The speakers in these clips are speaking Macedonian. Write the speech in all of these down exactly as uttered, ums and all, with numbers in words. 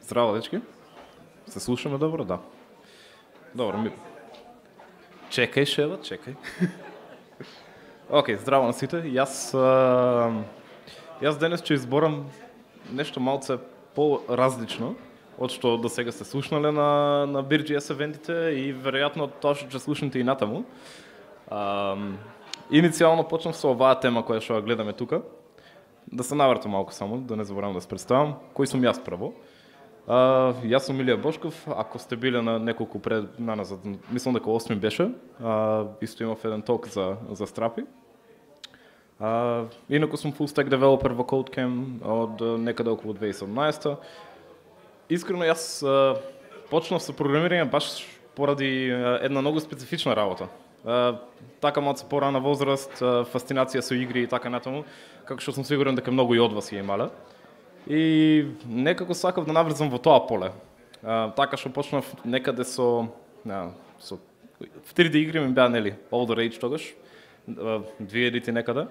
Здраво, дечки. Се слушаме добро, да. Добро, ми... Чекај, Шева, чекај. Океј, здраво на сите. Јас, а... јас денес ќе изборам нешто малце по-различно од што до сега сте слушнале на, на би джи ес евентите и веројатно тоа што ќе слушнете и натаму. А... Иницијално почнав со оваа тема која што ја гледаме тука. Да се навртам малку само, да не заборавам да се представам. Кој сум јас прво? Uh, јас сум Илија Бошков, ако сте биле на неколку пред наназад, мислам дека осми беше, uh, исто имав еден толк за, за страпи. Uh, инаку сум full stack developer во CodeCamp од некаде околу две тисаци и седумнаесета. Искрено јас uh, почнав со програмирање баш поради uh, една многу специфична работа. Uh, така малку порана возраст, uh, фасцинација со игри и така натаму, како што сум сигурен дека многу и од вас ја имале. И некако сакав да наврзам во тоа поле. А, така што почнав некаде со, а, со в три дэ игри ми беа нели Older Age тогаш, две едити некаде.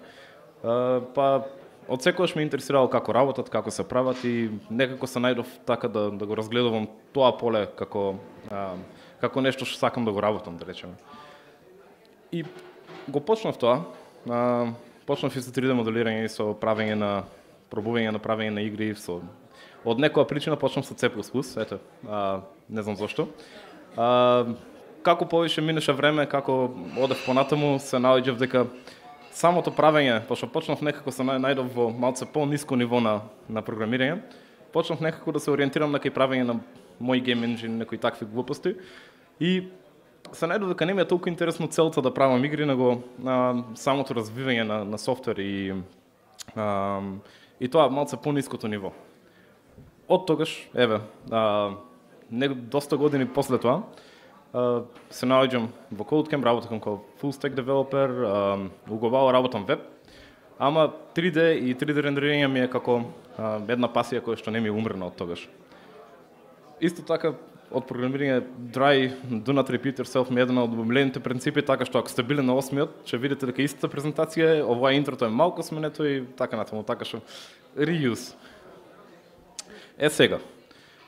А, па од секогаш ме интересирало како работат, како се прават и некако се најдов така да да го разгледувам тоа поле како а, како нешто што сакам да го работам, да речеме. И го почнав тоа. А, почнав и со три дэ моделирање и со правење на пробување на правење на игри со од некоја причина почнам со C plus plus, ете, а, не знам зошто. А, како повеќе минеше време, како одев понатаму, се наоѓав дека самото правење, пошто почнав некако се најдов во малце по-ниско ниво на на програмирање, почнав некако да се ориентирам на кај правење на мој гейм енџин, некои такви глупости и се најдов дека не ми е толку интересно целта да правам игри, него а, самото развивање на на софтвер и а, и тоа малце по-ниското ниво. Од тогаш, еве, а, не, доста години после тоа, а, се наоѓам во CodeCamp, работам како full stack developer, а, углавало работам веб, ама три дэ и три дэ рендерирање ми е како а, една пасија која што не ми е умрена од тогаш. Исто така, од програмирање Dry, Do Not Repeat Yourself ми е една од обмилените принципи, така што ако сте биле на осмиот, ќе видите дека истата презентација е, ова интрото е малку сменето и така натаму, така што reuse. Е сега,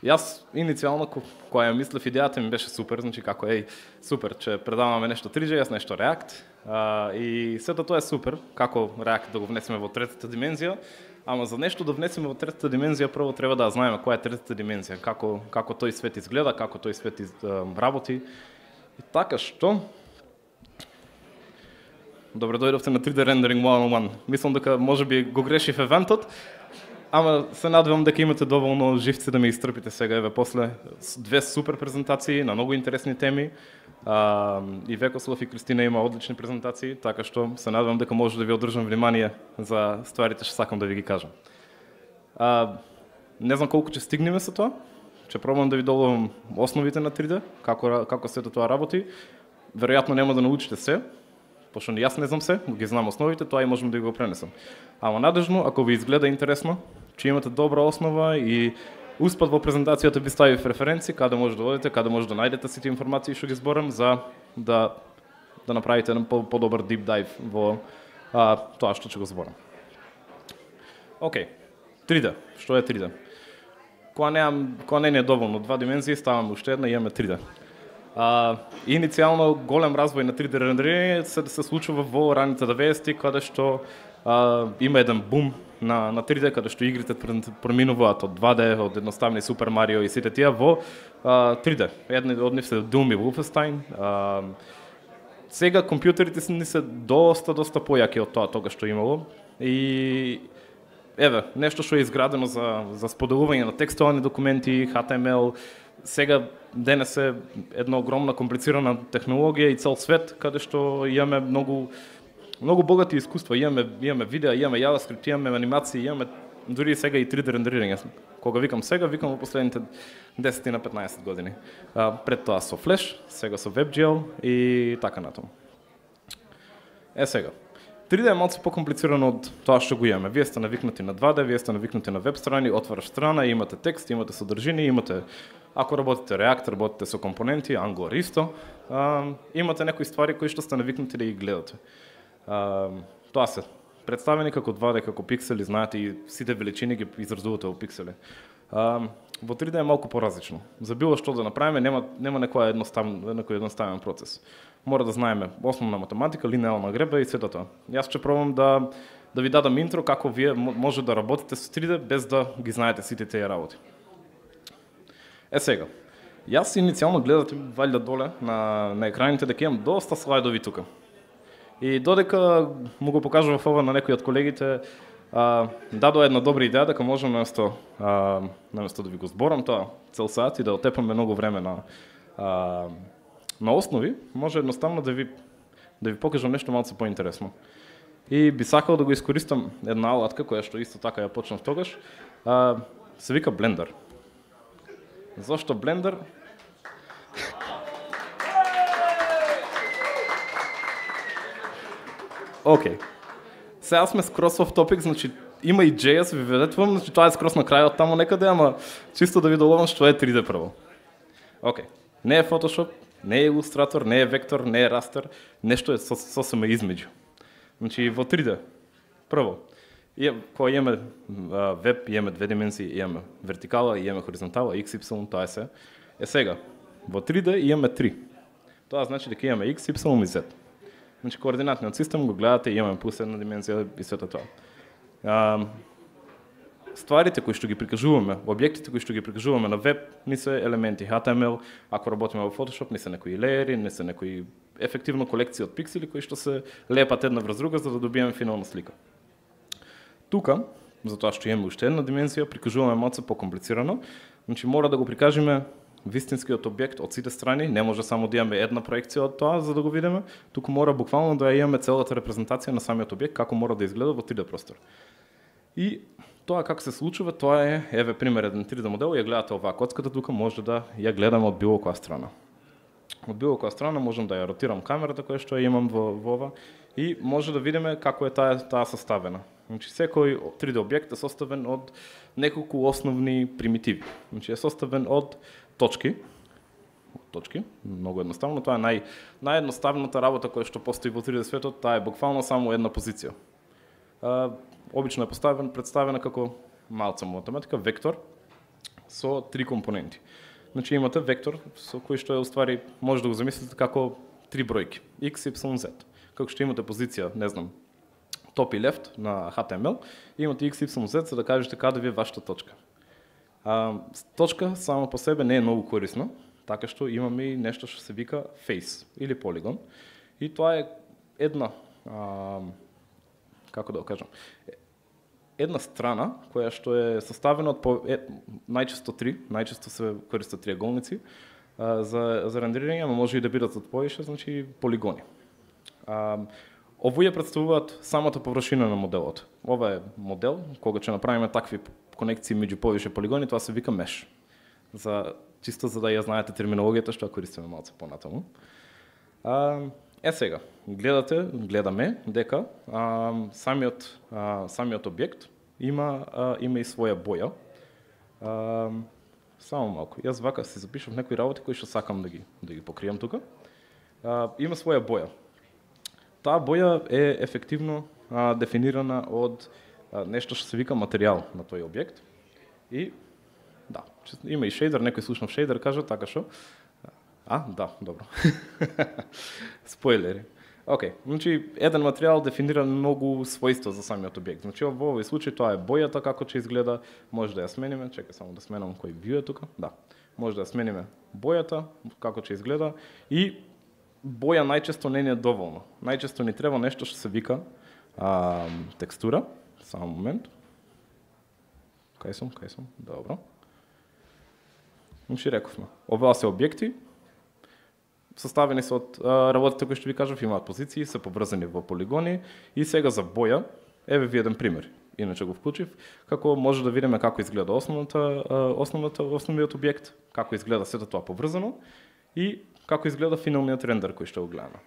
јас иницијално кога ја мислев идејата ми беше супер, значи како еј, супер, ќе предаваме нешто три дэ, јас нешто React, а, и сето тоа е супер, како React да го внесеме во третата димензија. Ама за нешто да внесеме во третата димензија, прво треба да знаеме која е третата димензија, како како тој свет изгледа, како тој свет из, uh, работи. И така што добре дојдовте на три дэ Rendering едно на едно. Мислам дека можеби го грешив евентот, ама се надевам дека имате доволно живци да ме истрпите сега, еве после две супер презентации на многу интересни теми. А, и Векослав и Кристина има одлични презентации, така што се надевам дека може да ви одржам внимание за стварите што сакам да ви ги кажам. А, не знам колку ќе стигнеме со тоа. Ќе пробам да ви доловам основите на три дэ, како како сето тоа работи. Веројатно нема да научите се, пошто јас не знам се, ги знам основите, тоа и можам да ги го пренесам. Ама надежно, ако ви изгледа интересно, че имате добра основа и успат во презентацијата би ставив референци, каде може да одите, каде може да најдете сите информации што ги зборам за да да направите еден по-добар deep dive во а, тоа што ќе го зборам. Океј, три дэ. Што е три дэ? Кога неам, кога не е доволно два димензии, ставам уште една и имаме три дэ. А, иницијално голем развој на три дэ рендерирање се се случува во раните деветдесети, каде што а, има еден бум на на три дэ, каде што игрите преминуваат од два дэ, од едноставни Супер Марио и сите тие во а, три дэ. Едни од нив се Doom и Wolfenstein. А, сега компјутерите се ни се доста доста појаки од тоа тогаш што имало и еве, нешто што е изградено за за споделување на текстуални документи, H T M L, сега денес е една огромна комплицирана технологија и цел свет каде што имаме многу многу богати искуства, имаме имаме видеа, имаме JavaScript, имаме анимации, имаме дури сега и три дэ рендерирање. Кога викам сега, викам во последните десет на петнаесет години. А, пред тоа со Flash, сега со WebGL и така натаму. Е сега, три дэ е малку покомплицирано од тоа што го имаме. Вие сте навикнати на два дэ, вие сте навикнати на веб страни, отвараш страна, имате текст, имате содржини, имате, ако работите React, работите со компоненти, Angular исто, а, имате некои ствари кои што сте навикнати да ги гледате. Uh, тоа се представени како два дэ, како пиксели, знаете и сите величини ги изразувате во пиксели. А, во три Д е малку поразлично. За било што да направиме нема нема некој едноставен некој едноставен процес. Мора да знаеме основна математика, линеарна греба и сето тоа. Јас ќе пробам да да ви дадам интро како вие може да работите со три Д без да ги знаете сите тие работи. Е сега, јас иницијално гледате валјда доле на на екраните дека имам доста слайдови тука. И додека му го покажував ова на некои од колегите, а, дадоа една добра идеја дека можам наместо а, наместо да ви го зборам тоа цел сат и да отепаме многу време на а, на основи, може едноставно да ви да ви покажам нешто малку поинтересно. И би сакал да го искористам една алатка која што исто така ја почнав тогаш, а, се вика Blender. Зошто Blender? Океј. Okay. Сега сме скрос в топик, значи има и джей ес, ви ведетвам, значи тоа е скрос на крајот таму некаде, ама чисто да ви доловам што е три Д прво. Океј. Okay. Не е Photoshop, не е Illustrator, не е Vector, не е Raster, нешто е со, сосема измеѓу. Значи во три Д, прво, кога имаме веб, имаме две димензии, имаме вертикала, имаме хоризонтала, икс ипсилон, тоа е се. Е сега, во три Д имаме три. Тоа значи дека имаме X, Y и Z. Значи координатниот систем го гледате, имаме плюс една димензија и сето тоа. А, стварите кои што ги прикажуваме, објектите кои што ги прикажуваме на веб, ни се елементи H T M L, ако работиме во Photoshop, ни се некои леери, ни се некои ефективно колекција од пиксели кои што се лепат една врз друга за да добиеме финална слика. Тука, затоа што имаме уште една димензија, прикажуваме малку покомплицирано, значи мора да го прикажеме вистинскиот објект од сите страни, не може само да имаме една проекција од тоа за да го видиме, туку мора буквално да имаме целата репрезентација на самиот објект како мора да изгледа во три Д простор. И тоа како се случува, тоа е еве пример еден три Д модел, ја гледате оваа коцката тука, може да ја гледаме од било која страна. Од било која страна можам да ја ротирам камерата која што ја имам во, во ова и може да видиме како е таа таа составена. Значи секој три Д објект е составен од неколку основни примитиви. Значи е составен од точки. Точки, многу едноставно, тоа е нај наједноставната работа која што постои во три Д светот, таа е буквално само една позиција. А, обично е поставен представена како малца математика вектор со три компоненти. Значи имате вектор со кој што е уствари може да го замислите како три бројки X, Y, Z. Како што имате позиција, не знам, топ и лефт на H T M L, имате X, Y, Z за да кажете каде ви е вашата точка. А, точка само по себе не е многу корисна, така што имаме и нешто што се вика face или полигон. И тоа е една, а, како да го кажам, една страна која што е составена од по, е, најчесто три, најчесто се користат триаголници а, за за рендерирање, но може и да бидат од повише, значи полигони. А, овие претставуваат самата површина на моделот. Ова е модел кога ќе направиме такви конекции меѓу повише полигони, тоа се вика меш. За чисто за да ја знаете терминологијата што ја користиме малку понатаму. А, е сега, гледате, гледаме дека а, самиот а, самиот објект има а, има и своја боја. А, само малку. Јас вака си запишав некои работи кои што сакам да ги да ги покријам тука. А, има своја боја. Таа боја е ефективно а, дефинирана од а, нешто што се вика материјал на тој објект. И да, има и шейдер, некој слушнав шейдер кажа така што. А, да, добро. Спойлери. Океј, значи еден материјал дефинира многу својства за самиот објект. Значи во овој случај тоа е бојата како ќе изгледа, може да ја смениме, чекај само да сменам кој view е тука. Да. Може да ја смениме бојата како ќе изгледа и боја најчесто не ни е доволно. Најчесто ни треба нешто што се вика а, текстура. Само момент. Кај сум, кај сум? Добро. Значи рековме, оваа се објекти, составени се од а, работите кои што ви кажав, имаат позиции, се поврзани во полигони и сега за боја, еве ви еден пример. Иначе го вклучив, како може да видиме како изгледа основната, основната основниот објект, како изгледа сето тоа поврзано и како изгледа финалниот рендер кој што го гледаме.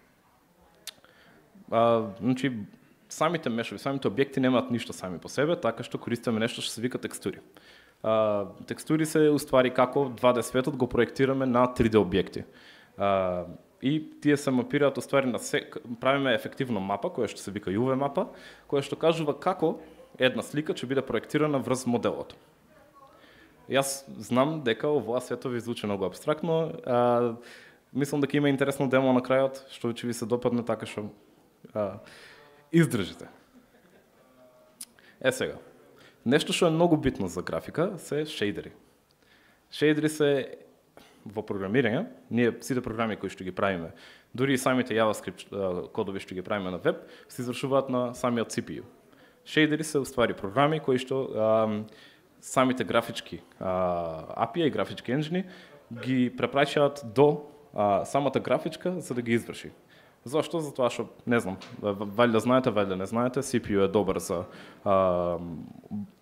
А, значи самите мешови, самите објекти немаат ништо сами по себе, така што користиме нешто што се вика текстури. А, текстури се уствари како два Д светот го проектираме на три Д објекти. А, и тие се мапираат уствари на се, правиме ефективно мапа која што се вика ю ви мапа, која што кажува како една слика ќе биде проектирана врз моделот. Јас знам дека оваа свето ви звучи многу абстрактно, а, мислам дека има интересно демо на крајот, што ќе ви се допадне, така што а, издржите. Е сега, нешто што е многу битно за графика се шейдери. Шейдери се во програмирање, ние сите програми кои што ги правиме, дури и самите JavaScript кодови што ги правиме на веб, се извршуваат на самиот Си Пи Ю. Шейдери се уствари програми кои што а, самите графички а, ей пи ай и графички енджини ги препраќаат до а, самата графичка за да ги изврши. Зошто? Затоа што, не знам, валјда знаете, валјда не знаете, Си Пи Ю е добар за а,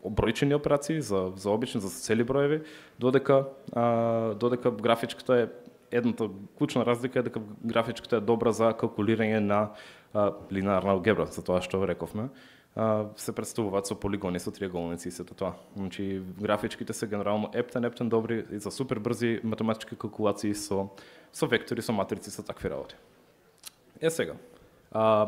бројчени операции, за, за обични, за цели броеви, додека, а, додека графичката е, едната клучна разлика е дека графичката е добра за калкулирање на а, линеарна алгебра, за тоа што рековме. А, се представуваат со полигони, со триаголници и сето тоа. Значи, графичките се генерално ептен, ептен добри и за супер брзи математички калкулации со, со вектори, со матрици, со такви работи. Е сега, а,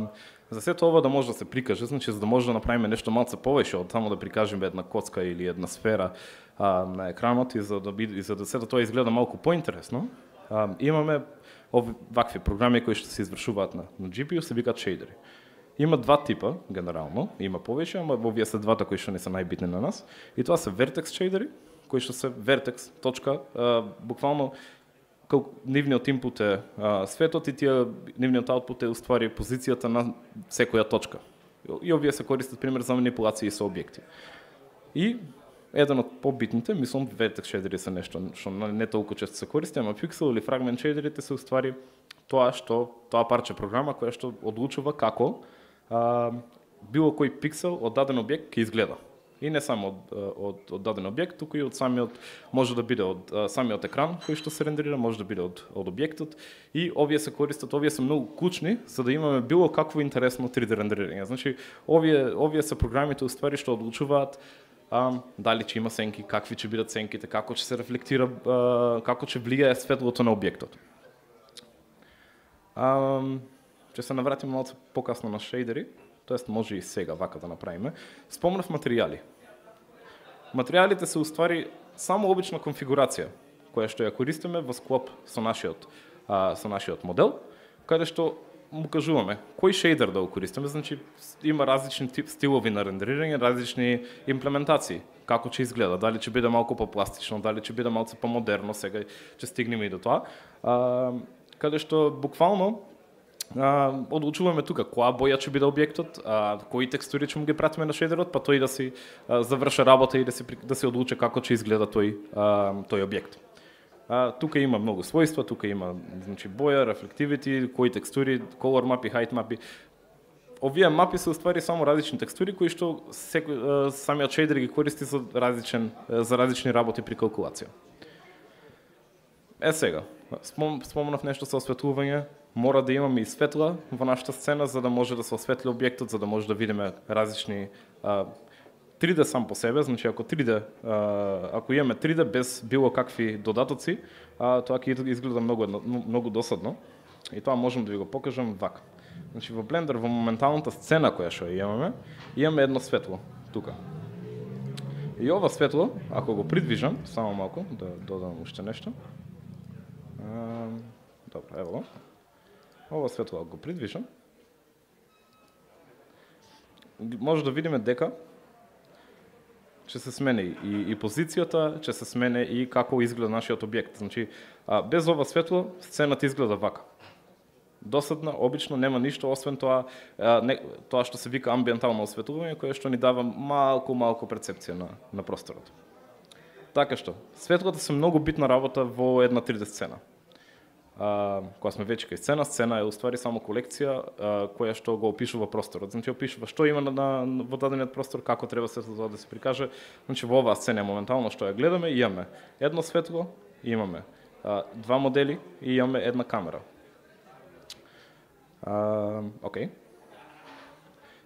за сето ова да може да се прикаже, значи за да може да направиме нешто малце повеќе од само да прикажеме една коцка или една сфера а, на екранот и за да биде, и за да сето тоа изгледа малку поинтересно, а, имаме ови вакви програми кои што се извршуваат на, на Джи Пи Ю, се викаат шейдери. Има два типа генерално, има повеќе, ама овие се двата кои што не се најбитни на нас, и тоа се vertex шейдери, кои што се vertex точка, а, буквално нивниот инпут е а, светот и тие нивниот аутпут е уствари позицијата на секоја точка. И овие се користат пример за манипулации со објекти. И еден од побитните, мислам, vertex шейдери се нешто што не толку често се користи, ама пиксел или фрагмент шейдерите се уствари тоа што тоа парче програма која што одлучува како а, било кој пиксел од даден објект ќе изгледа. И не само од, од, од даден објект, туку и од самиот, може да биде од самиот екран кој што се рендерира, може да биде од, од објектот. И овие се користат, овие се многу клучни за да имаме било какво интересно три Д рендерирање. Значи, овие, овие се програмите уствари што одлучуваат а, дали ќе има сенки, какви ќе бидат сенките, како ќе се рефлектира, а, како ќе влијае светлото на објектот. А, ќе се навратиме малку покасно на шейдери, тоест може и сега вака да направиме. Спомнав материјали. Материјалите се уствари само обична конфигурација, која што ја користиме во склоп со нашиот, а, со нашиот модел, каде што му кажуваме кој шейдер да го користиме, значи има различни тип стилови на рендерирање, различни имплементации, како ќе изгледа, дали ќе биде малку попластично, дали ќе биде малку помодерно, сега ќе стигнеме и до тоа. А, каде што буквално а, одлучуваме тука која боја ќе биде објектот, а, кои текстури ќе му ги пратиме на шейдерот, па тој да си а, заврши работа и да се да се одлучи како ќе изгледа тој а, тој објект. А, тука има многу својства, тука има значи боја, reflectivity, кои текстури, color мапи, height мапи. Овие мапи се уствари само различни текстури кои што секој самиот шейдер ги користи за различен за различни работи при калкулација. Е сега, спом, спомнав нешто со осветлување, мора да имаме и светла во нашата сцена за да може да се осветли објектот, за да може да видиме различни а, три Д сам по себе, значи ако три Д, а, ако имаме три Д без било какви додатоци, а, тоа ќе изгледа многу многу досадно. И тоа можам да ви го покажам вака. Значи во Blender во моменталната сцена која што имаме, имаме едно светло тука. И ова светло, ако го придвижам, само малку да додам уште нешто. А, добро, ево. Ова светло ако го придвижам, може да видиме дека ќе се смени и, и позицијата, ќе се смени и како изгледа нашиот објект. Значи, а, без ова светло, сцената изгледа вака. Досадна, обично нема ништо освен тоа, а, не, тоа што се вика амбиентално осветлување, кое што ни дава малку малку перцепција на на просторот. Така што, светлото се многу битна работа во една три Д сцена. А, кога сме веќе кај сцена, сцена е уствари само колекција а, која што го опишува просторот. Значи опишува што има на, на во дадениот простор, како треба светлото да се прикаже. Значи во оваа сцена моментално што ја гледаме, имаме едно светло, имаме а, два модели и имаме една камера. А, окей.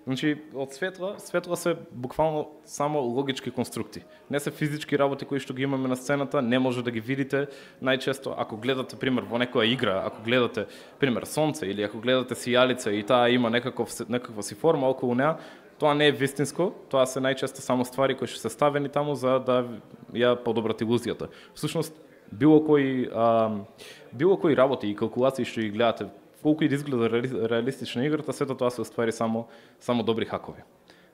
Значи, од светла, светла се буквално само логички конструкти. Не се физички работи кои што ги имаме на сцената, не може да ги видите. Најчесто, ако гледате, пример, во некоја игра, ако гледате, пример, сонце или ако гледате сијалица и таа има некаков, некаква си форма околу неа, Тоа не е вистинско, тоа се најчесто само ствари кои што се ставени таму за да ја подобрат илузијата. Всушност, било кој а, било кои работи и калкулации што ги гледате, колку и да изгледа реалистична играта, сето тоа се уствари само само добри хакови.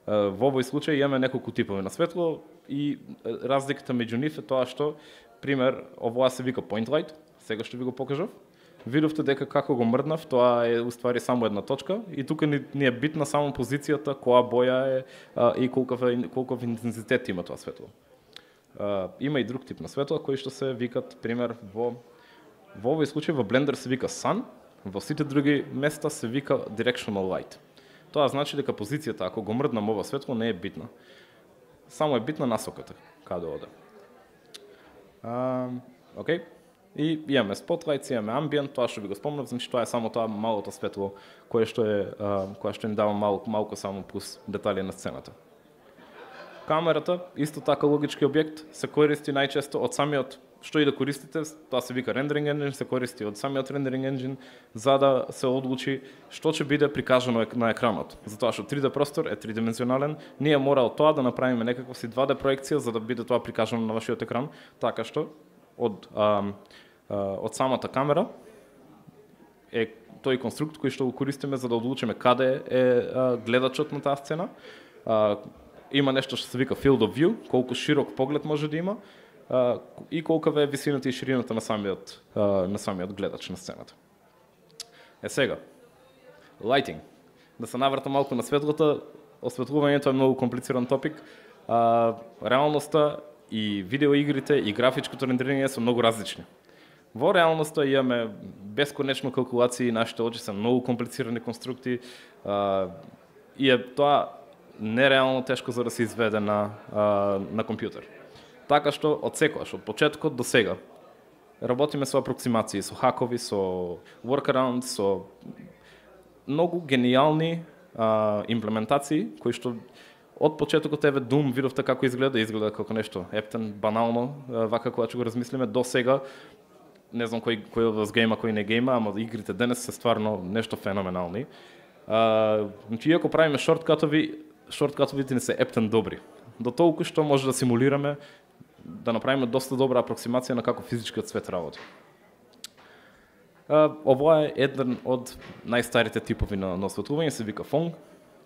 Во овој случај имаме неколку типови на светло и разликата меѓу нив е тоа што, пример, овоа се вика point light, сега што ви го покажав. Видовте дека како го мрднав, тоа е уствари само една точка и тука ни, ни е битна само позицијата, која боја е а, и колков, колков интензитет има тоа светло. А, има и друг тип на светла кои што се викат, пример, во во овој случај во Blender се вика sun, во сите други места се вика directional light. Тоа значи дека позицијата, ако го мрднам ова светло, не е битна. Само е битна насоката, каде оде. А, окей. И имаме spotlights, имаме ambient, тоа што ви го спомнав, значи тоа е само тоа малото светло кое што е а, кое што ни дава малку малку само плюс детали на сцената. Камерата, исто така логички објект, се користи најчесто од самиот, што и да користите, тоа се вика rendering engine, се користи од самиот rendering engine за да се одлучи што ќе биде прикажано на екранот. Затоа што три Д простор е тридимензионален, ние мора од тоа да направиме некаква си два Д проекција за да биде тоа прикажано на вашиот екран, така што од а, а, од самата камера е тој конструкт кој што го користиме за да одлучиме каде е а, гледачот на таа сцена. А, има нешто што се вика field of view, колку широк поглед може да има а, и колкава е висината и ширината на самиот а, на самиот гледач на сцената. Е сега, lighting. Да се наврта малку на светлото, осветлувањето е многу комплициран топик. А, реалноста и видеоигрите и графичкото рендерирање се многу различни. Во реалноста имаме бесконечно калкулации, нашите очи се многу комплицирани конструкти а, и е тоа нереално тешко за да се изведе на, а, на компјутер. Така што од секојаш, од почетокот до сега, работиме со апроксимации, со хакови, со workarounds, со многу гениални а, имплементации, кои што од почетокот еве Doom видовте како изгледа, изгледа како нешто ептен, банално, вака кога ќе го размислиме, до сега, не знам кој, кој од вас гейма, кој не гейма, ама игрите денес се стварно нешто феноменални. А, значи, иако правиме шорткатови, шорткатовите не се ептен добри. До толку што може да симулираме, да направиме доста добра апроксимација на како физичкиот свет работи. А, ова е еден од најстарите типови на, на осветлување, се вика Phong.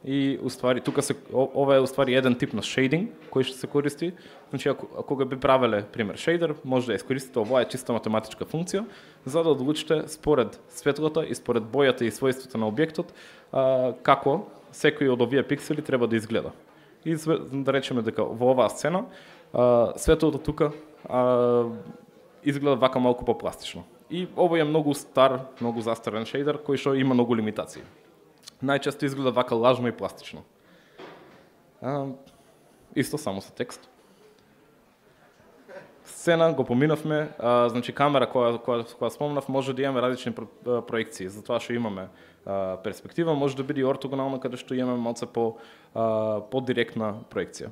И уствари тука се ова е уствари еден тип на шейдинг кој што се користи. Значи ако кога би правеле пример шейдер, може да искористите, ова е чиста математичка функција за да одлучите според светлото и според бојата и својството на објектот а, како секој од овие пиксели треба да изгледа. И да речеме дека во оваа сцена а, светлото тука а, изгледа вака малку попластично. И ова е многу стар, многу застарен шейдер кој што има многу лимитации. Најчесто изгледа вака лажно и пластично. А, исто само со текст. Сцена го поминавме, а, значи камера која која која спомнав може да имаме различни про, проекции, затоа што имаме а, перспектива, може да биде и ортогонална каде што имаме малце по а, по директна проекција.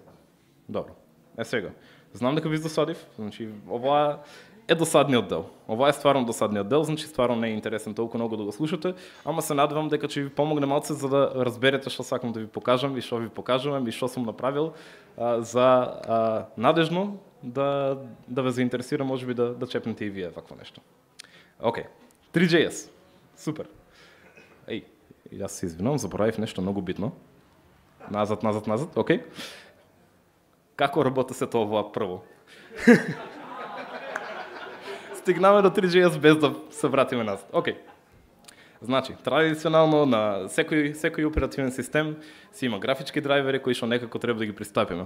Добро. Е сега, знам дека ви досадив, значи ова е досадниот дел. Ова е стварно досадниот дел, значи стварно не е интересен толку многу да го слушате, ама се надевам дека ќе ви помогне малце за да разберете што сакам да ви покажам и што ви покажувам и што сум направил а, за а, надежно да да ве заинтересира, можеби да да чепнете и вие вакво нешто. Океј. три џе ес. Супер. Еј, јас се извинувам, заборавив нешто многу битно. Назад, назад, назад. Океј. Како работи се тоа ова прво? Стигнаме до три џе ес без да се вратиме назад. Океј. Значи, традиционално на секој секој оперативен систем си има графички драйвери кои што некако треба да ги пристапиме.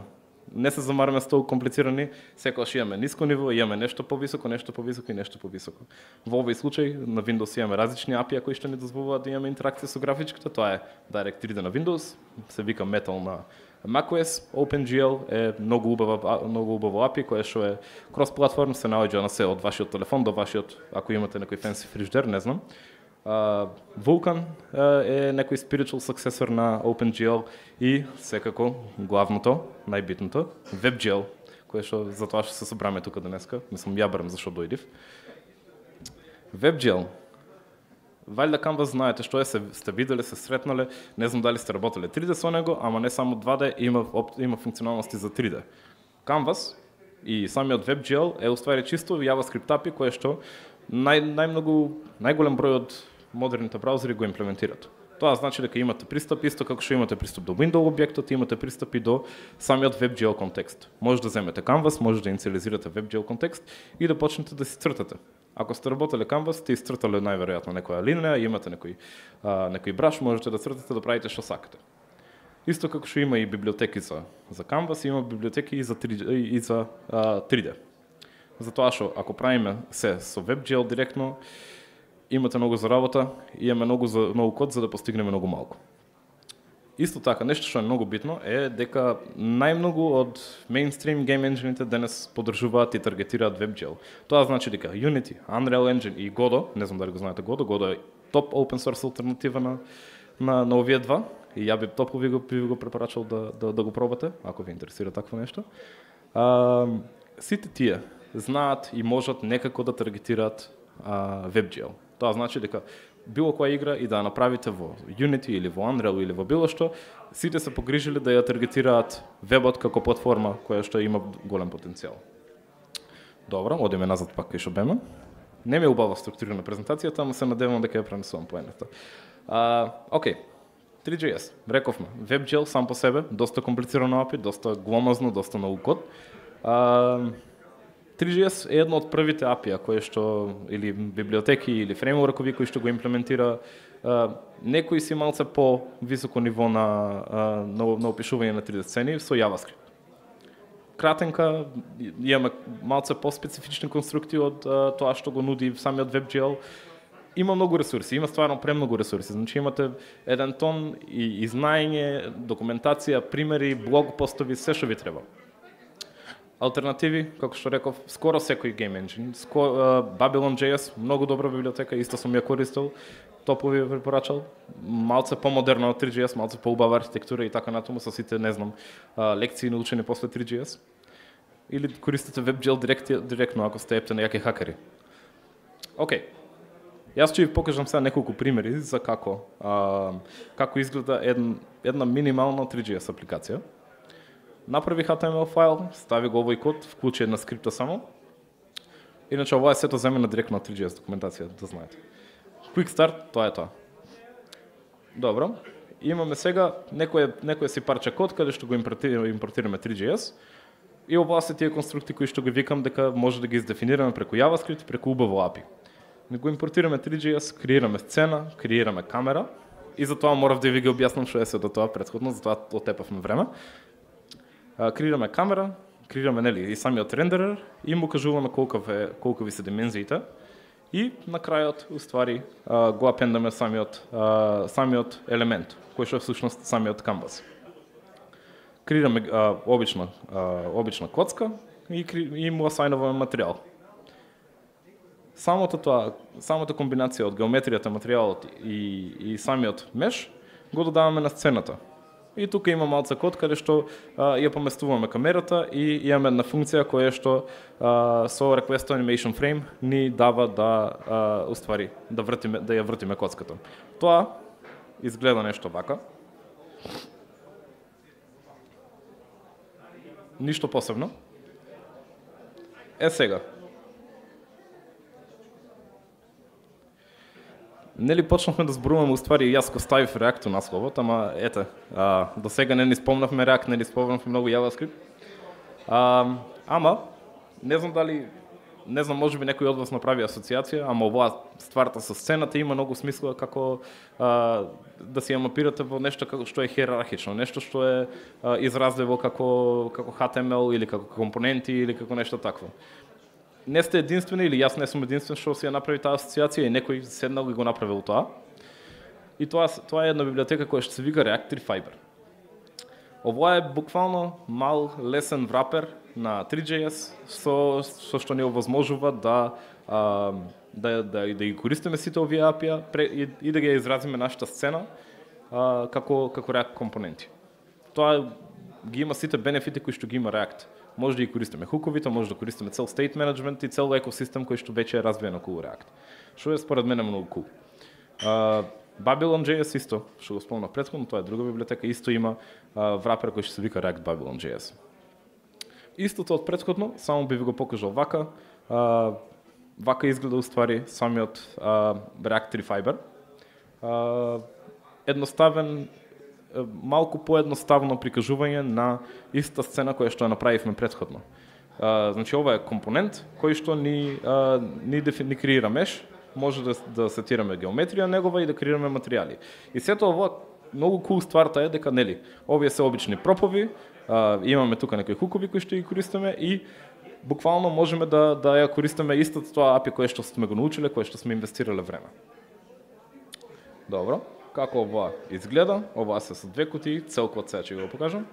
Не се замараме со толку комплицирани, секогаш имаме ниско ниво, имаме нешто повисоко, нешто повисоко и нешто повисоко. Во овој случај на Windows имаме различни ей пи ай кои што ни дозволуваат да имаме интеракција со графичката, тоа е Direct три Д на Windows, се вика Metal на macOS, OpenGL е многу убава многу убаво ей пи ай кое што е крос-платформ, се наоѓа на се од вашиот телефон до вашиот, ако имате некој фенси фриждер, не знам. Uh, Vulkan uh, е некој spiritual successor на OpenGL и секако главното, најбитното, WebGL, кое што за тоа што се собраме тука денеска, мислам ја барам зашо дојдив. WebGL. валјда Canvas знаете што е, се, сте виделе, се сретнале, не знам дали сте работеле три Д со него, ама не само два Д, има, има функционалности за три Д. Canvas и самиот WebGL е уствари чисто JavaScript ей пи ай кое што нај, најмногу, најголем број од модерните браузери го имплементираат. Тоа значи дека имате пристап, исто како што имате пристап до Windows објектот, имате пристап и до самиот WebGL контекст. Може да земете Canvas, може да инициализирате WebGL контекст и да почнете да си цртате. Ако сте работеле Canvas, сте изцртале најверојатно некоја линија, имате некој, а, некој браш, можете да цртате да правите што сакате. Исто како што има и библиотеки за, за Canvas, има библиотеки и за три Д. И за, а, три Д. Затоа што ако правиме се со WebGL директно, имате многу за работа и имаме многу, за, многу код за да постигнеме многу малку. Исто така, нешто што е многу битно е дека најмногу од мейнстрим гейм енџините денес поддржуваат и таргетираат WebGL. Тоа значи дека Unity, Unreal Engine и Godot, не знам дали го знаете Godot, Godot е топ open source алтернатива на, на, на овие два и ја би топо ви го, би го препорачал да, да, да го пробате, ако ви интересира такво нешто. А, сите тие знаат и можат некако да таргетираат а, WebGL. Тоа значи дека било која игра и да ја направите во Unity или во Unreal или во било што, сите се погрижили да ја таргетираат вебот како платформа која што има голем потенцијал. Добро, одиме назад пак кај што беме. Не ми е убава структурирана презентацијата, ама се надевам дека ја пренесувам поената. А, окей, три джи ес, рековме, WebGL сам по себе, доста комплицирано ей пи ай, доста гломазно, доста многу код. А, три джи ес е едно од првите ей пи ай кои што, или библиотеки, или фреймворкови кои што го имплементира. Uh, некои си малце по високо ниво на, uh, на, на опишување на три Д сцени со JavaScript. Кратенка, имаме малце по-специфични конструкти од uh, тоа што го нуди самиот WebGL. Има многу ресурси, има стварно премногу ресурси. Значи имате еден тон и, и знаење, документација, примери, блог постови, се што ви треба. Алтернативи, како што реков, скоро секој гейм енџин. Uh, Babylon джей ес, многу добра библиотека, исто сум ја користел, топо ви препорачал. Малце помодерна од три джи ес, малце поубава архитектура и така натаму со сите, не знам, uh, лекции научени после три джи ес. Или користите WebGL директ, директно ако сте ептени јаки хакери. Окей. Јас ќе ви покажам сега неколку примери за како uh, како изгледа една, една минимална три джи ес апликација. Направи ейч ти ем ел файл, стави го овој код, вклучи една скрипта само. Иначе ова е сето земена директно од три джи ес документација, да знаете. Quick start, тоа е тоа. Добро. Имаме сега некој некој си парче код каде што го импортираме, импортираме три джи ес. И ова се тие конструкти кои што ги викам дека може да ги издефинираме преку JavaScript, преку убаво ей пи ай. Не го импортираме три джи ес, креираме сцена, креираме камера и затоа морав да ви ги објаснам што е се до тоа претходно, затоа отепавме време. Креираме камера, креираме нели и самиот рендерер и му кажуваме колку е колку се димензиите и на крајот уствари го апендаме самиот самиот елемент кој што е всушност самиот canvas. Креираме обична обична коцка и и му асајнуваме материјал. Самото тоа, самата комбинација од геометријата, материјалот и и самиот меш го додаваме на сцената. И тука има малце код каде што а, ја поместуваме камерата и имаме една функција која што а, со request animation frame ни дава да а, уствари да вртиме да ја вртиме коцката. Тоа изгледа нешто вака. Ништо посебно. Е сега. Нели почнавме да зборуваме уствари јас го ставив React на насловот, ама ете, а, до сега не ни спомнавме React, не ни спомнавме многу JavaScript. А, ама не знам дали не знам можеби некој од вас направи асоциација, ама оваа стварта со сцената има многу смисла како а, да се ја мапирате во нешто како што е хиерархично, нешто што е а, изразливо како како ейч ти ем ел или како компоненти или како нешто такво. Не сте единствени или јас не сум единствен што си ја направи таа асоциација и некој седнал и го направил тоа. И тоа тоа е една библиотека која што се вика React три Fiber. Ова е буквално мал лесен врапер на три джи ес со со што ни овозможува да а, да да да ги користиме сите овие ей пи ай и, и да ги изразиме нашата сцена а, како како React компоненти. Тоа ги има сите бенефити кои што ги има React. Може да ги користиме хуковите, може да користиме цел state management и цел екосистем кој што веќе е развиен околу React. Што е според мене многу cool. А, Babylon.js исто, што го спомнав претходно, тоа е друга библиотека, исто има а, врапер кој што се вика React Babylon.js. Истото од претходно, само би ви го покажал вака. А, вака изгледа уствари самиот а, React три Fiber. А, едноставен, малку поедноставно прикажување на иста сцена која што ја направивме претходно. А, значи ова е компонент кој што ни а, ни, дефи, ни креира меш, може да, да сетираме геометрија негова и да креираме материјали. И сето ова многу кул стварта е дека нели, овие се обични пропови, а, имаме тука некои хукови кои што ги користиме и буквално можеме да да ја користиме истото тоа ей пи ай кое што сме го научиле, кое што сме инвестирале време. Добро, како ова изгледа? Ова се со две кутии, целкот сега ќе го покажам.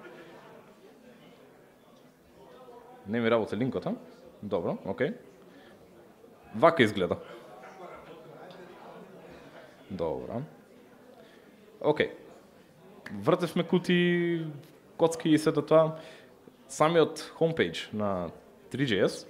Не ми работи линкот, а? Добро, окей. Вака изгледа. Добро. Океј. Вртевме кути, коцки и сето тоа. Самиот homepage на три джей ес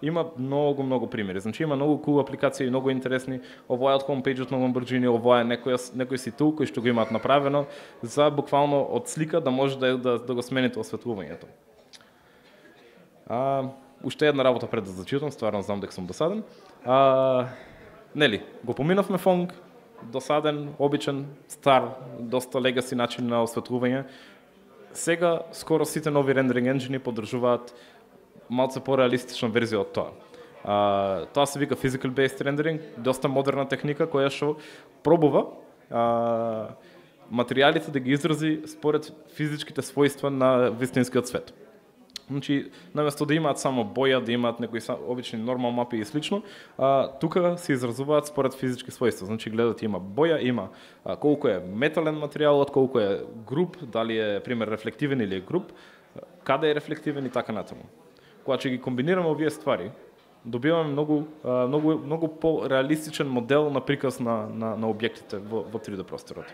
има многу, многу примери. Значи има многу cool апликации, многу интересни. Ова е од homepage-от на Lamborghini, ова е некој, некој си тул кој што го имаат направено за буквално од слика да може да, да, да го смените осветлувањето. А, уште една работа пред да зачитам, стварно знам дека сум досаден. А, нели, го поминавме фонг, досаден, обичен, стар, доста легаси начин на осветлување. Сега скоро сите нови рендеринг енджини поддржуваат малце пореалистична верзија од тоа. А, тоа се вика physical based rendering, доста модерна техника која што пробува а, материјалите да ги изрази според физичките својства на вистинскиот свет. Значи, наместо да имаат само боја, да имаат некои обични нормал мапи и слично, а, тука се изразуваат според физички својства. Значи, гледат има боја, има а, колку е метален материјалот, колку е груп, дали е, пример, рефлективен или е груп, каде е рефлективен и така натаму. Кога ќе ги комбинираме овие ствари, добиваме многу, а, многу, многу по-реалистичен модел на приказ на, на, на објектите во, во три дé просторот.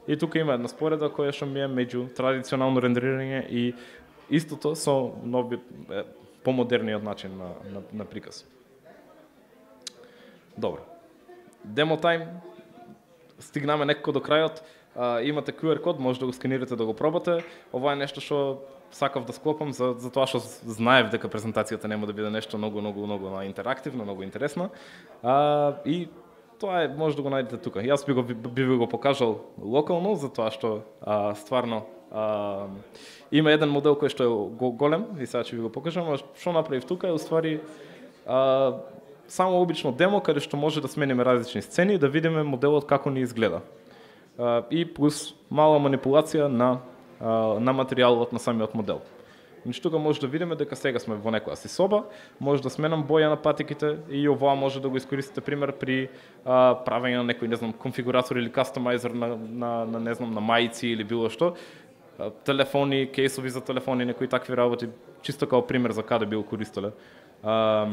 И тука има една спореда која што ми е меѓу традиционално рендерирање и истото со нови, е, помодерниот начин на, на, на приказ. Добро. Demo time. Стигнаме некако до крајот. А, имате ку ар код, може да го сканирате да го пробате. Ова е нешто што сакав да склопам за, за тоа што знаев дека презентацијата нема да биде нешто многу, многу, многу интерактивно, многу интересно. А, и тоа е, може да го најдете тука. Јас би го, би, би го покажал локално, за тоа што а, стварно а, има еден модел кој што е голем, и сега ќе ви го покажам, а што направив тука е уствари а, само обично демо каде што може да смениме различни сцени и да видиме моделот како ни изгледа. А, и плюс мала манипулација на, а, на материјалот на самиот модел. Значи тука може да видиме дека сега сме во некоја си соба, може да сменам боја на патиките и ова може да го искористите пример при а, правење на некој, не знам, конфигуратор или кастомайзер на, на, на не знам, на мајци или било што. А, телефони, кейсови за телефони, некои такви работи, чисто као пример за каде би го користеле. А,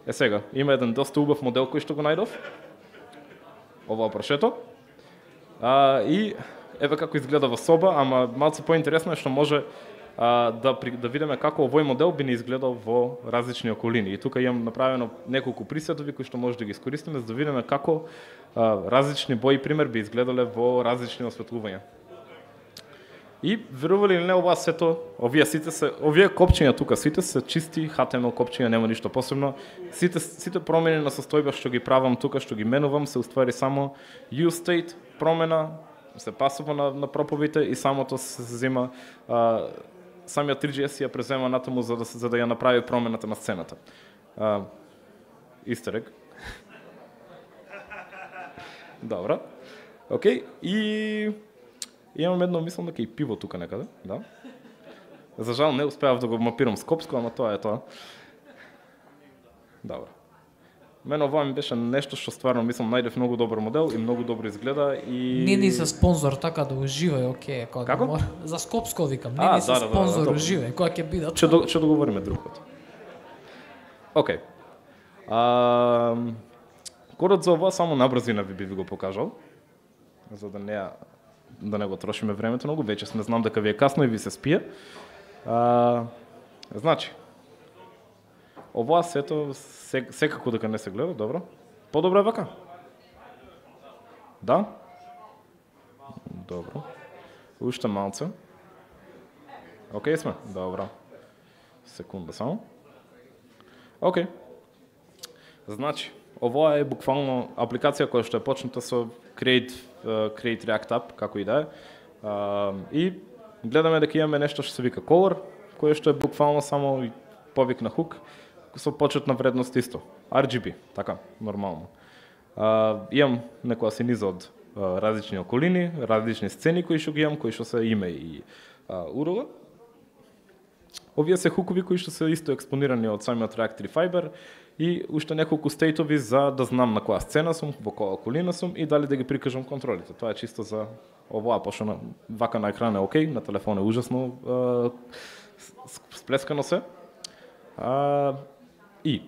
е сега, има еден доста убав модел кој што го најдов. Ова прашето. А, и еве како изгледа во соба, ама малце поинтересно е што може а, да, да видиме како овој модел би ни изгледал во различни околини. И тука имам направено неколку присетови кои што може да ги искористиме за да видиме како а, различни бои пример би изгледале во различни осветлувања. И верували или не, ова сето, овие сите се, овие копчиња тука сите се чисти ейч ти ем ел копчиња, нема ништо посебно. Сите сите промени на состојба што ги правам тука, што ги менувам, се уствари само use state промена, се пасува на, на проповите и самото се зема а, самиот три джей ес ја презема натаму за да за да ја направи промената на сцената. А, истерек. Добро. Океј, и имам едно, мислам дека и пиво тука некаде, да. За жал не успеав да го мапирам скопско, ама тоа е тоа. Добро. Мене ова ми беше нешто што стварно мислам најдев многу добар модел и многу добро изгледа и Не ни се спонзор, така да уживај, окей, кога Како? мора. За Скопско викам, не А, ни се да, да, да, спонзор, да, уживај, кога ќе бидат. Ќе до, ќе договориме друг пат. Океј. А, кодот за ова само набрзина ви би ви го покажал, за да не да не го трошиме времето многу, веќе не знам дека ви е касно и ви се спие. А, значи, ова сето секако дека не се гледа, добро. Подобро е вака. Да? Добро. Уште малце. Океј сме? Добро. Секунда само. Океј. Значи, ова е буквално апликација која што е почната со Create, uh, Create React App, како и да е. Uh, и гледаме дека имаме нешто што се вика Color, кое што е буквално само повик на хук, со почетна вредност исто. ар джи би, така, нормално. Uh, имам некоја синиза од uh, различни околини, различни сцени кои што ги имам, кои што се име и uh, урл. Овие се хукови кои што се исто експонирани од самиот React Fiber и уште неколку стейтови за да знам на која сцена сум, во која околина сум и дали да ги прикажам контролите. Тоа е чисто за оваа, пошто на вака на екран е окей, на телефон е ужасно uh, сплескано се. Uh, и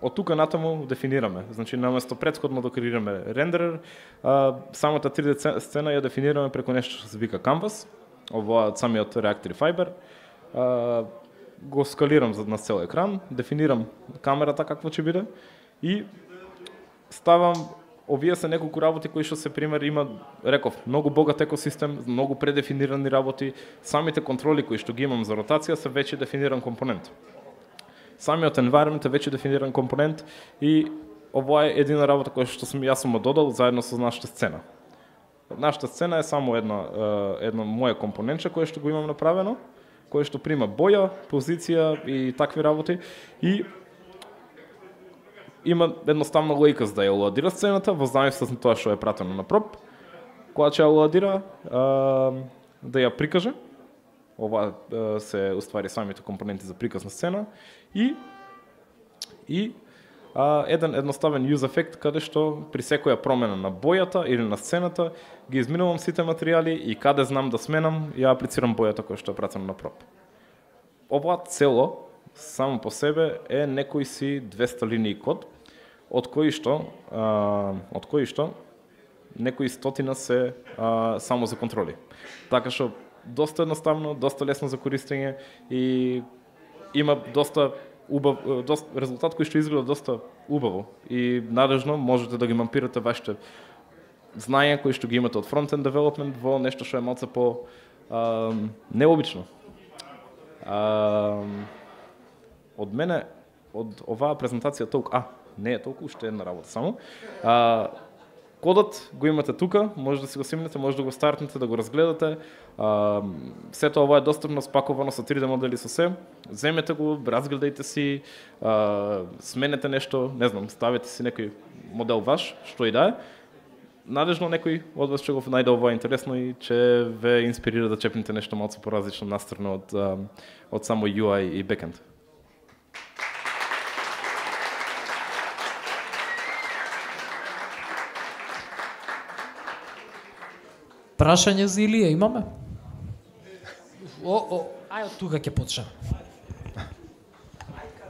од тука натаму дефинираме. Значи, наместо претходно да креираме рендерер, а, самата три де сцена ја дефинираме преку нешто што се вика Canvas, ова од самиот React Fiber. А, го скалирам на цел екран, дефинирам камерата какво ќе биде и ставам, овие се неколку работи кои што се пример има, реков, многу богат екосистем, многу предефинирани работи, самите контроли кои што ги имам за ротација се веќе дефиниран компонент. Самиот environment е веќе дефиниран компонент и ова е едина работа која што сум јас сум додал заедно со нашата сцена. Нашата сцена е само една едно мое компонентче кое што го имам направено, кое што прима боја, позиција и такви работи и има едноставна лоика за да ја лоадира сцената во зависност од тоа што е пратено на проб. Кога ќе ја лоадира, да ја прикаже. Ова се уствари самите компоненти за приказ на сцена и и а, еден едноставен use ефект каде што при секоја промена на бојата или на сцената ги изминувам сите материјали и каде знам да сменам ја аплицирам бојата која што е пратена на проб. Ова цело само по себе е некои си двеста линии код од кои што а, од кои што некои стотина се а, само за контроли. Така што доста едноставно, доста лесно за користење и има доста убав, доста резултат кој што изгледа доста убаво и надежно можете да ги мапирате вашите знаења кои што ги имате од фронтенд девелопмент во нешто што е малце по а, необично. А, од мене од оваа презентација толку, а не е толку, уште една работа само. А, Кодот го имате тука, може да си го симнете, може да го стартнете, да го разгледате. А, сето ова е достапно спаковано со три де модели со се. Земете го, разгледајте си, а, сменете нешто, не знам, ставете си некој модел ваш, што и да е. Надежно некој од вас ќе го најде ова интересно и ќе ве инспирира да чепнете нешто малку поразлично настрано од, од само ю ај и бекенд. Прашање за Илија имаме? О, о, ај од тука ќе почнем.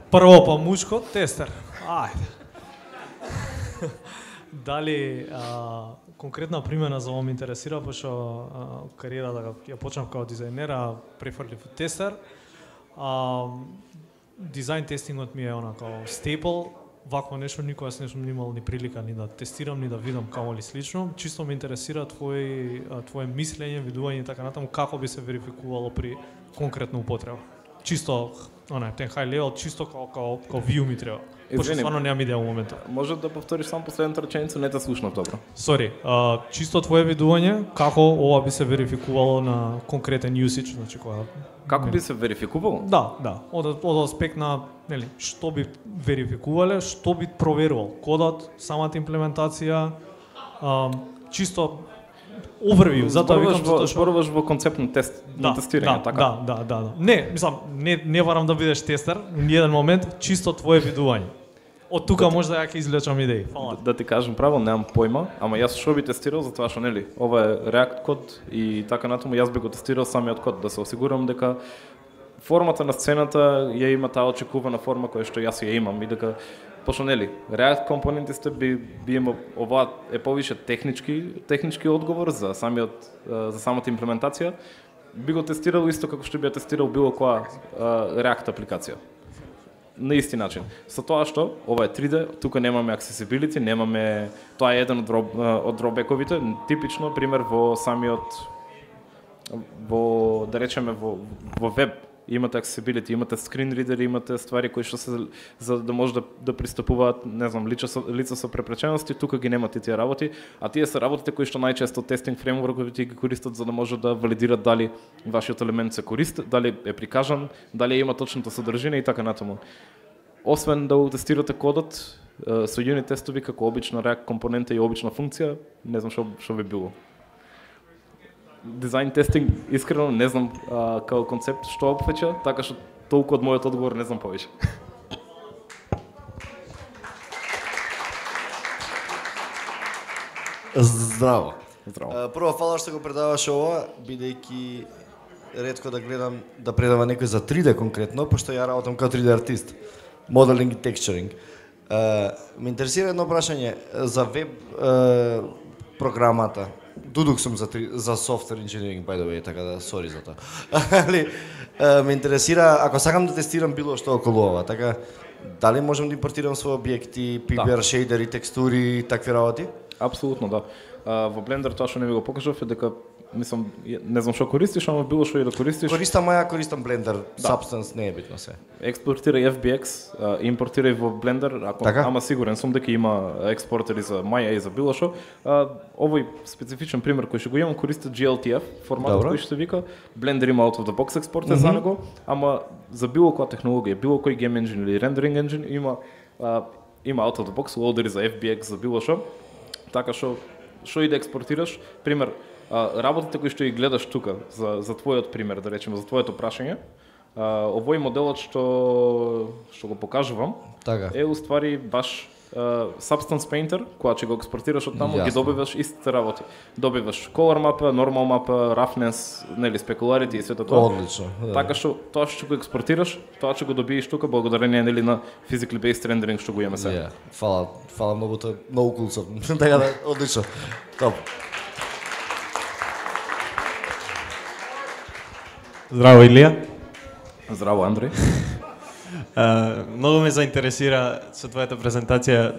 Прво па мушко, тестер. Ајде. Дали а, конкретна примена за ова ме интересира, пошто кариерата ја почнав како дизајнер, а префрлив тестер. А, дизајн тестингот ми е онака стейпл. Вакво нешто никогаш не сум имал ни прилика ни да тестирам, ни да видам камо ли слично. Чисто ме интересира твој твое мислење, видување и така натаму како би се верификувало при конкретна употреба. Чисто, онај, ten high level, чисто како како како view ми треба. Пошто стварно немам идеја во моментот. Може да повториш само последната реченица, не те слушнав добро. Сори, uh, чисто твое видување, како ова би се верификувало на конкретен usage, значи кога Како би се верификувало? Да, да. Од од аспект на, нели, што би верификувале, што би проверувал, кодот, самата имплементација, а, чисто overview, затоа викам затоа што зборуваш во концепт на тест, да, на тестирање, да, така. Да, да, да, да. Не, мислам, не не барам да бидеш тестер, ни еден момент, чисто твое видување. Од тука може да ја ќе извлечам идеи. Фала. Да, да ти кажам право, немам појма, ама јас што би тестирал затоа што нели, ова е React код и така натаму јас би го тестирал самиот код да се осигурам дека формата на сцената ја има таа очекувана форма која што јас ја имам и дека пошто нели React компонентите би би имал ова е повише технички технички одговор за самиот за самата имплементација, би го тестирал исто како што би ја тестирал било која React апликација. на исти начин. Со тоа што ова е три Д, тука немаме accessibility, немаме, тоа е еден од дроб, од дробековите, типично пример во самиот во да речеме во во веб имате accessibility, имате screen reader, имате ствари кои што се за да може да да пристапуваат, не знам, лица со лица со препречености, тука ги немате тие работи, а тие се работите кои што најчесто тестинг фреймворковите ги користат за да може да валидират дали вашиот елемент се користи, дали е прикажан, дали има точната содржина и така натаму. Освен да тестирате кодот со юнит тестови како обична React компонента и обична функција, не знам што што би било. Дизајн тестинг, искрено не знам а, као концепт што опфаќа, така што толку од мојот одговор не знам повеќе. Здраво. Здраво. А, прво, фала што го предаваш ова, бидејќи ретко да гледам да предава некој за три Д конкретно, пошто ја работам као три Д артист. Моделинг и текстчеринг. Ме интересира едно прашање за веб а, програмата. Дудук сум за три, за software engineering, by the way, така да сори за тоа. Али ме интересира ако сакам да тестирам било што околу ова, така дали можам да импортирам свои објекти, пи би ар, да. Шейдери, текстури, такви работи? Апсолутно, да. А, во Blender тоа што не ви го покажав е дека мислам не знам што користиш, ама било што и да користиш. Користам ја, користам Blender, да. Substance не е битно се. Експортирај F B X, а, импортирај во Blender, ако така? Ама сигурен сум дека има експортери за Maya и за било што. А, овој специфичен пример кој што го имам користи G L T F, форматот кој што се вика. Blender има out of the box експортер mm -hmm. за него, ама за било која технологија, било кој game engine или rendering engine има а, има out of the box лоудери за F B X за било што. Така што што и да експортираш, пример, а, работите кои што ги гледаш тука за за твојот пример, да речеме, за твоето прашање, а, овој моделот што што го покажувам, така. Е уствари баш а, Substance Painter, кога ќе го експортираш од таму, ги добиваш истите работи. Добиваш color мапа, normal мапа, roughness, нели specularity и сето тоа. Одлично. Да. Така што тоа што го експортираш, тоа ќе го добиеш тука благодарение нели на physically based rendering што го имаме сега. Yeah. Фала, фала многу, тоа многу кул сум. Така да, одлично. Топ. Здраво, Илија. Здраво, Андреј. Uh, многу ме заинтересира со твојата презентација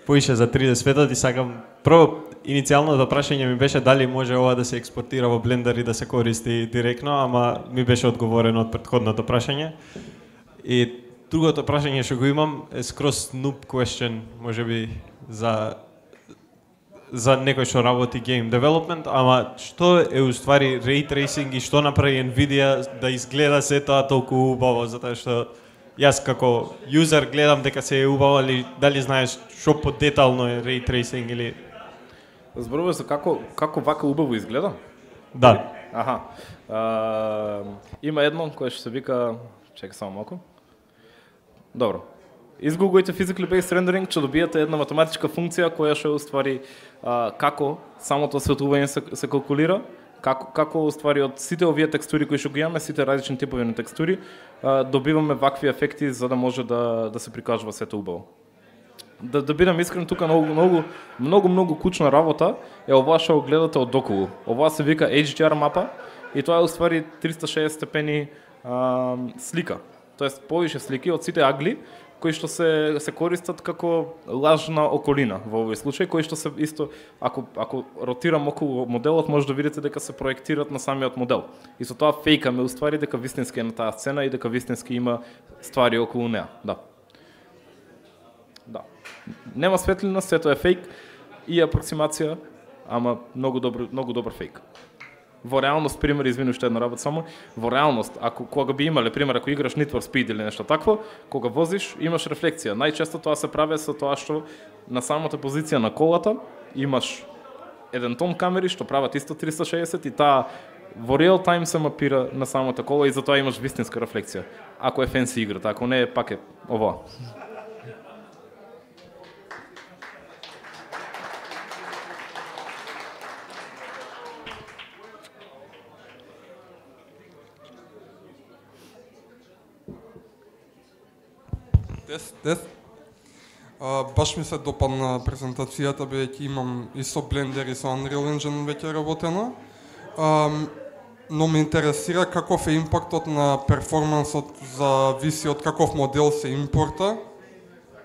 поише за три Д светот и сакам прво иницијалното прашање ми беше дали може ова да се експортира во Blender и да се користи директно, ама ми беше одговорено од претходното прашање. И другото прашање што го имам е скроз noob question, можеби за за некој што работи game development, ама што е уствари ray tracing и што направи Nvidia да изгледа се тоа толку убаво, затоа што јас како юзер гледам дека се е убаво, али дали знаеш што подетално е ray tracing или Зборуваш за како како вака убаво изгледа? Да. Аха. А, има едно кое што се вика, чекај само малку. Добро. Изгуглајте physically based rendering, ќе добиете една математичка функција која што уствари а, како самото осветлување се, се калкулира, како како уствари од сите овие текстури кои што ги имаме, сите различни типови на текстури, а, добиваме вакви ефекти за да може да да се прикажува сето убаво. Да да бидам искрен, тука многу многу многу многу кучна работа е ова што гледате од околу. Ова се вика H D R мапа и тоа е уствари триста и шеесет степени а, слика. Тоест повише слики од сите агли кои што се се користат како лажна околина во овој случај, кои што се исто ако ако ротирам околу моделот може да видите дека се проектираат на самиот модел. И со тоа фејкаме уствари дека вистински е на таа сцена и дека вистински има ствари околу неа. Да. Да. Нема светлина, сето е фейк и апроксимација, ама многу добро многу добар фейк. Во реалност, пример, извини уште една работа само, во реалност, ако кога би имале, пример, ако играш Need for Speed или нешто такво, кога возиш, имаш рефлексија. Најчесто тоа се прави со тоа што на самата позиција на колата имаш еден тон камери што прават исто триста и шеесет и таа во реал тайм се мапира на самата кола и затоа имаш вистинска рефлексија. Ако е фенси играта, ако не е пак е ова. Тест, тест. А, баш ми се допадна презентацијата, бидејќи имам и со Blender и со Unreal Engine веќе работено. А, но ме интересира каков е импактот на перформансот зависи од каков модел се импорта,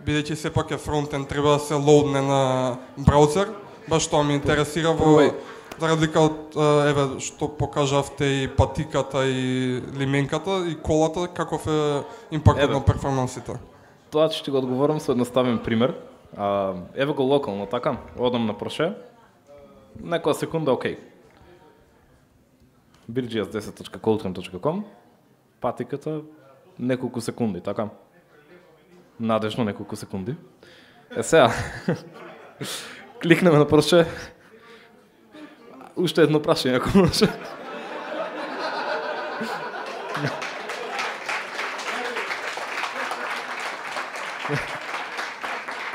бидејќи сепак е фронтенд, треба да се лоудне на браузер, баш тоа ме интересира во за разлика од еве што покажавте и патиката и лименката и колата, каков е импактот на перформансите. Тоа ќе ти го одговорам со едноставен пример. А, еве го локално, така? Одам на Порше, некоја секунда окей. би џи ес десет точка колтрем точка ком, патиката неколку секунди, така? Надежно неколку секунди. Е сега, кликнеме на Порше, уште едно прашање, ако може.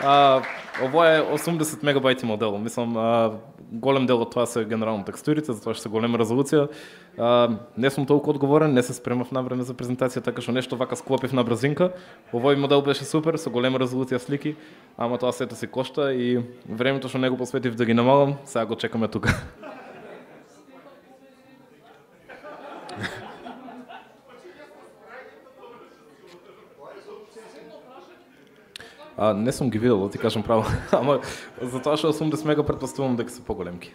А, ова е осумдесет мегабајти модел. Мислам, а, голем дел од тоа се генерално текстурите, затоа што се голема резолуција. А, не сум толку одговорен, не се спремав на време за презентација, така што нешто вака склопив на брзинка. Овој модел беше супер, со голема резолуција слики, ама тоа сето си кошта и времето што него посветив да ги намалам, сега го чекаме тука. А, не сум ги видел, да ти кажам право, ама затоа што осумдесет мега претпоставувам дека се поголемки.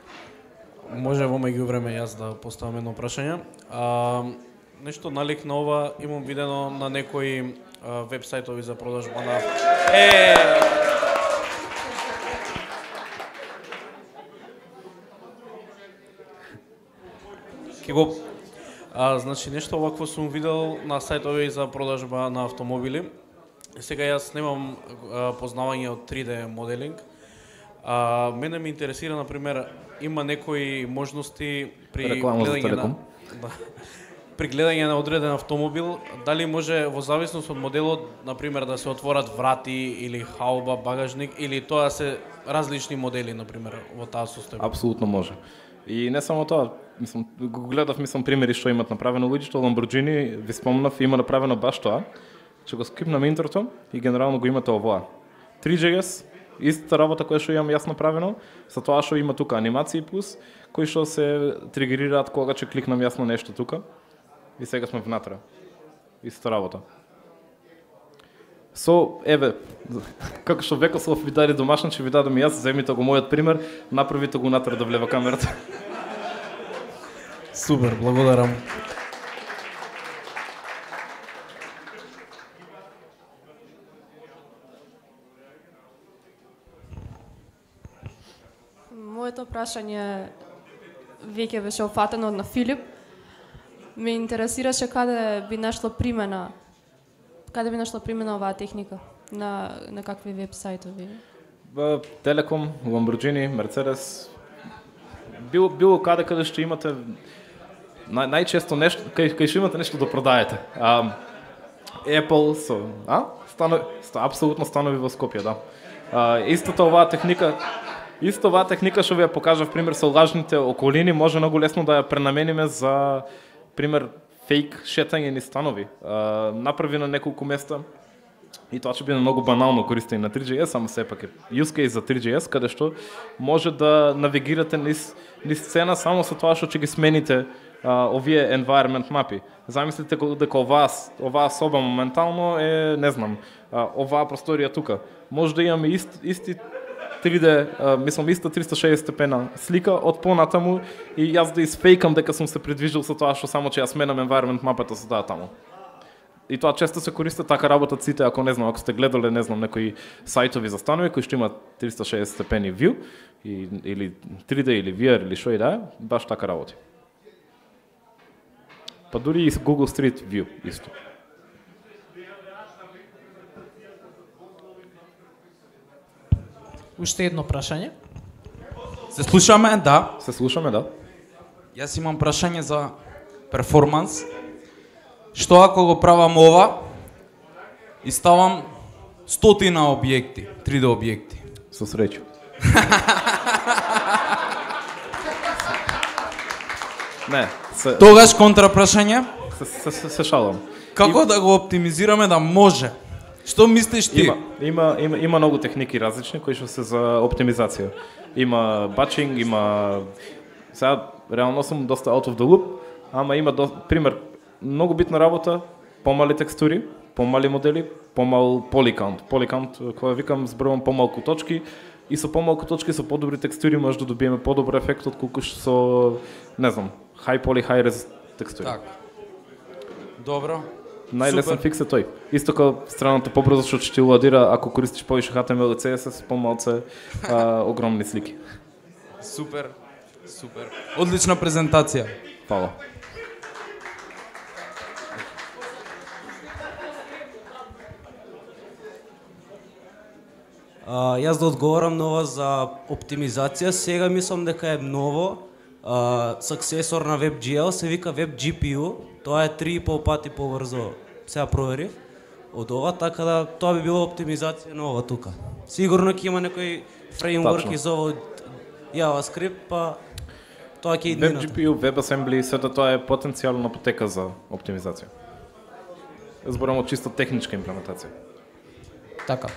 Може во меѓувреме јас да поставам едно прашање. А, нешто налик на ова имам видено на некои веб сајтови за продажба на Е! Ке го а, значи нешто вакво сум видел на сајтови за продажба на автомобили. Сега јас немам а, познавање од три де моделинг. А, мене ме интересира, например, има некои можности при Реклама за гледање Телеком. на да, при гледање на одреден автомобил, дали може во зависност од моделот, например, да се отворат врати или хауба, багажник, или тоа се различни модели, например, во таа состојба? Апсолутно може. И не само тоа, мислам, го гледав, мислам, примери што имат направено луѓето, Lamborghini, ви спомнав, има направено баш тоа. Че го скипнам интрото и генерално го имате овоа. три џи ес, истата работа која што имам јас направено, со тоа што има тука анимации плюс, кои што се тригерираат кога ќе кликнам јас на нешто тука. И сега сме внатре. Истата работа. Со, еве, како што Векослав ви даде домашно, ќе ви дадам јас, земите го мојот пример, направите го натре да влева камерата. Супер, благодарам. Моето прашање веќе беше офатено на Филип. Ме интересираше каде би нашла примена, каде би нашла примена оваа техника, на, на какви веб сајтови? Телеком, Lamborghini, Mercedes, било, било каде каде што имате, нај, најчесто нешто, кај, кај што имате нешто да продаете. А, Apple, со, а? Стано, ста, апсолутно станови во Скопје, да. А, истата оваа техника, Исто оваа техника што ви ја покажав пример со лажните околини, може многу лесно да ја пренамениме за пример фейк шетање низ станови. А, направи на неколку места и тоа ќе биде многу банално користење на три џи ес, ама сепак е use case за три џи ес каде што може да навигирате низ низ сцена само со тоа што ќе ги смените а, овие environment мапи. Замислите дека оваа оваа соба моментално е, не знам, а, оваа просторија тука. Може да имаме ист, исти три де, а, мислам, иста триста и шеесет степена слика од понатаму и јас да изфейкам дека сум се придвижил со тоа што само че ја сменам environment мапата со таа таму. И тоа често се користи, така работат сите, ако не знам, ако сте гледале, не знам, некои сајтови за станови кои што имаат триста и шеесет степени view и, или три де или ви ар или што и да е, баш така работи. Па дури и Google Street View исто. Уште едно прашање. Се слушаме, да. Се слушаме, да. Јас имам прашање за перформанс. Што ако го правам ова и ставам стотина објекти, три де објекти? Со среќа. Не, се, Тогаш контра прашање, се, се, се, се шалам. како да го оптимизираме да може? Што мислиш ти? Има, има, има, има многу техники различни кои што се за оптимизација. Има батчинг, има... Сега, реално сум доста out of the loop, ама има до, пример, многу битна работа, помали текстури, помали модели, помал поликаунт. Поликаунт, кога викам, зборувам помалку точки и со помалку точки со подобри текстури може да добиеме подобар ефект отколку со, не знам, high poly, high res текстури. Така. Добро. Најлесен фикс е тој. Исто како страната побрзо што ќе ти ладира ако користиш повише H T M L и C S S, помалце а, огромни слики. Супер. Супер. Одлична презентација. Фала. А, јас да одговорам на ова за оптимизација, сега мислам дека е ново. Uh, саксесор на WebGL се вика WebGPU, тоа е три и пол пати побрзо, сега проверив, од ова, така да тоа би било оптимизација на ова тука. Сигурно ќе има некои фреймворки за ова од JavaScript, па тоа ќе иднината. WebGPU, WebAssembly, сето тоа е потенцијална потека за оптимизација. Зборам од чисто техничка имплементација. Така.